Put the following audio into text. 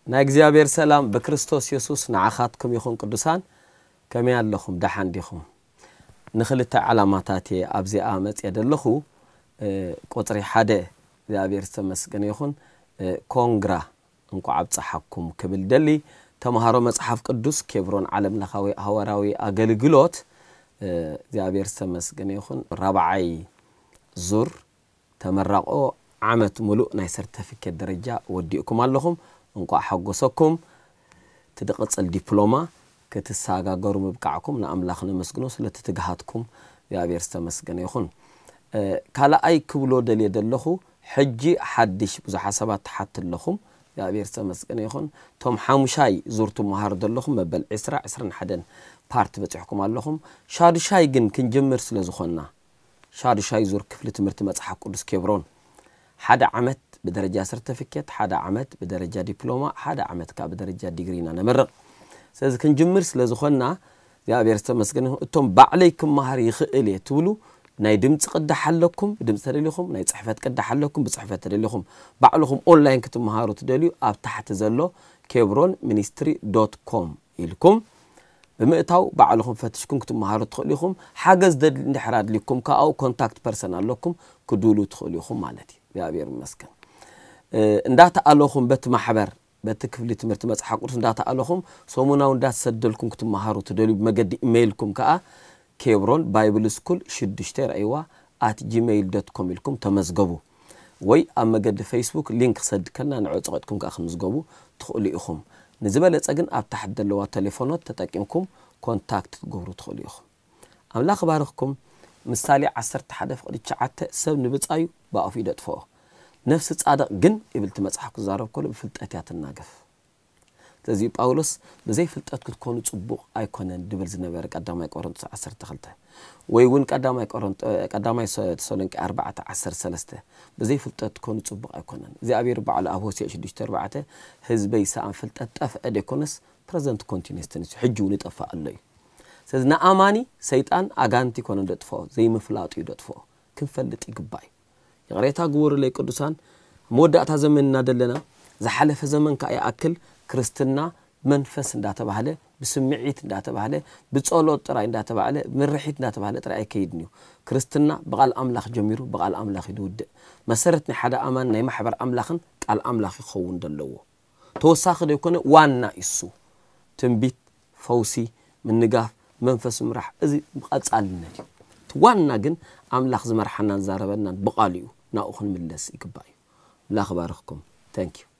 ናይ እግዚኣብሔር ሰላም ብክርስቶስ የሱስ ንዓኻትኩም ይኹን። ቅዱሳን፣ ከመይ ኣለኹም? ደሓን ዲኹም? ንኽልተ ዓላማታት እየ ኣብዚኣ መፅየ ዘለኹ። እ፣ ቁፅሪ ሓደ እግዚኣብሔር ዝተመስገነ ይኹን። እ፣ ኮንግራ፣ እንኳዕ ኣብፀሓኩም ክብል ደሊ። ተምሃሮ መፅሓፍ ቅዱስ ኬብሮን ዓለም ለኻዊ ሃዋርያዊ ኣገልግሎት፣ እ፣ እግዚኣብሔር ዝተመስገነ ይኹን። ራብዓይ ዙር ተመራቆ ዓመት ሙሉእ ናይ ሰርተፊኬት ደረጃ ወዲእኩም ኣለኹም። እንቋዕ ሓጎሰኩም። እቲ ድቕጽል ዲፕሎማ ክትሰጋገሩ ምብቃዕኩም ንኣምላኽ ነመስግኖ። ስለቲ ትግሃትኩም እግዚኣብሔር ዝተመስገነ ይኹን። እ፣ ካልኣይ ክብሎ ደልየ ዘለኹ፣ ሕጂ ሓድሽ ብዙሓት ሰባት ትሓት ኣለኹም። እግዚኣብሔር ዝተመስገነ ይኹን። እቶም ሓሙሻይ ዙር ትመሃሩ ዘለኹም መበል ዕስራ፣ ዕስራን ሓደን ፓርት በጺሕኩም ኣለኹም። ሻዱሻይ ግን ክንጅምር ስለ ዝኾንና፣ ሻዱሻይ ዙር ክፍሊ ትምህርቲ መጽሓፍ ቅዱስ ኬብሮን፣ ሓደ ዓመት ብደረጃ ሰርተፊኬት፣ ሓደ ዓመት ብደረጃ ዲፕሎማ፣ ሓደ ዓመት ከዓ ብደረጃ ዲግሪ ኢና ነመርቕ። ስለዚ ክንጅምር ስለ ዝኾንና እግዚኣብሔር ዝተመስገነ ይኹን። እቶም ባዕለይ ክመሃር ይኽእል እየ ትብሉ፣ ናይ ድምፂ ቅዳሕ ኣለኩም፣ ብድምፂ ተደሊኹም፣ ናይ ፅሕፈት ቅዳሕ ኣለኩም፣ ብፅሕፈት ተደሊኹም፣ ባዕልኹም ኦንላይን ክትመሃሩ ትደልዩ፣ ኣብ ታሕቲ ዘሎ ኬብሮን ሚኒስትሪ ዶት ኮም ኢልኩም ብምእታው ባዕልኹም ፈትሽኩም ክትመሃሩ ትኽእሉ ኢኹም። ሓገዝ ደል-፣ እንድሕር ኣድልይኩም ከኣ ኣብኡ ኮንታክት ፐርሰን ኣለኩም፣ ክድውሉ ትኽእሉ ኢኹም ማለት እዩ። እግዚኣብሔር ይመስገን። እ፣ እንዳተኣለኹም በቲ ማሕበር፣ በቲ ክፍሊ ትምህርቲ መጽሓፍ ቅዱስ እንዳተኣለኹም ሰሙናዊ እንዳተሰደልኩም ክትመሃሩ ትደልዩ ብመገዲ ኢሜይልኩም ከኣ ኬብሮን ባይብል ስኩል ሽዱሽተ ርኣይዋ ኣት ጂሜይል ዶት ኮም ኢልኩም ተመዝገቡ። ወይ ኣብ መገዲ ፌስቡክ ሊንክ ክሰድከልና ንዕኡ ጸቒጥኩም ከኣ ክትምዝገቡ ትኽእሉ ኢኹም። ንዝበለጸ ግን ኣብ ታሕቲ ዘለዋ ቴሌፎኖት ተጠቂምኩም ኮንታክት ክትገብሩ ትኽእሉ ኢኹም። ኣምላኽ ይባርኽኩም። ምሳሌ ዓሰርተ ሓደ ፍቕዲ ትሽዓተ፣ ሰብ ንብጻዩ ብኣፉ እዩ ደጥፍኦ፣ ነፍሲ ጻድቕ ግን ይብል እቲ መጽሓፍ ክዛረብ ከሎ ብፍልጠት እያ ትናገፍ። ስለዚ ጳውሎስ ብዘይ ፍልጠት ክትኮኑ ጽቡቕ ኣይኮነን ድብል ዝነበረ ቀዳማይ ቆሮንቶስ ዓሰርተ ክልተ ወይ እውን ቀዳማይ ቆሮንቶ-፣ ቀዳማይ ሰ-፣ ተሰሎንቄ ኣርባዕተ ዓሰርተ ሰለስተ ብዘይ ፍልጠት ክትኮኑ ጽቡቕ ኣይኮነን። እግዚኣብሔር ባዕሉ ኣብ ሆሴዕ ሽዱሽተ ኣርባዕተ ህዝበይ ሰኣን ፍልጠት ጠፍአ ደይኮነስ ፕረዘንት ኮንቲኒስ ተንስ ሕጂ እውን ይጠፍእ ኣሎ እዩ። ስለዚ ንኣማኒ ሰይጣን ኣጋንቲ ይኮነ ደጥፍኦ፣ ዘይምፍላጡ እዩ ደጥፍኦ። ክንፈልጥ ይግባእ እዩ። ይቕሬታ ግበሩለይ ቅዱሳን፣ ኣብ መወዳእታ ዘመን ኢና ደለና። ዝሓለፈ ዘመን ከኣ ይኣክል። ክርስትና መንፈስ እንዳተባህለ፣ ብስምዒት እንዳተባህለ፣ ብጸሎት ጥራይ እንዳተባህለ፣ ምርሒት እንዳተባህለ ጥራይ ኣይከይድን እዩ። ክርስትና ብቓል ኣምላኽ ጀሚሩ ብቓል ኣምላኽ እዩ ዝውድእ። መሰረት ናይ ሓደ ኣማን ናይ ማሕበር ኣምላኽን ቃል ኣምላኽ ይኸውን ዘለዎ። ተወሳኺ ዘይኮነ ዋና እዩ እሱ። ትንቢት፣ ፈውሲ፣ ምንጋፍ፣ መንፈስ ምራሕ፣ እዚ ብቐጻልነት እዩ። እቲ ዋና ግን ኣምላኽ ዝመርሓናን ዝዛረበናን ብቓሉ እዩ። ናብኡ ክንምለስ ይግባእ እዩ። ኣምላኽ ይባርኽኩም። Thank you።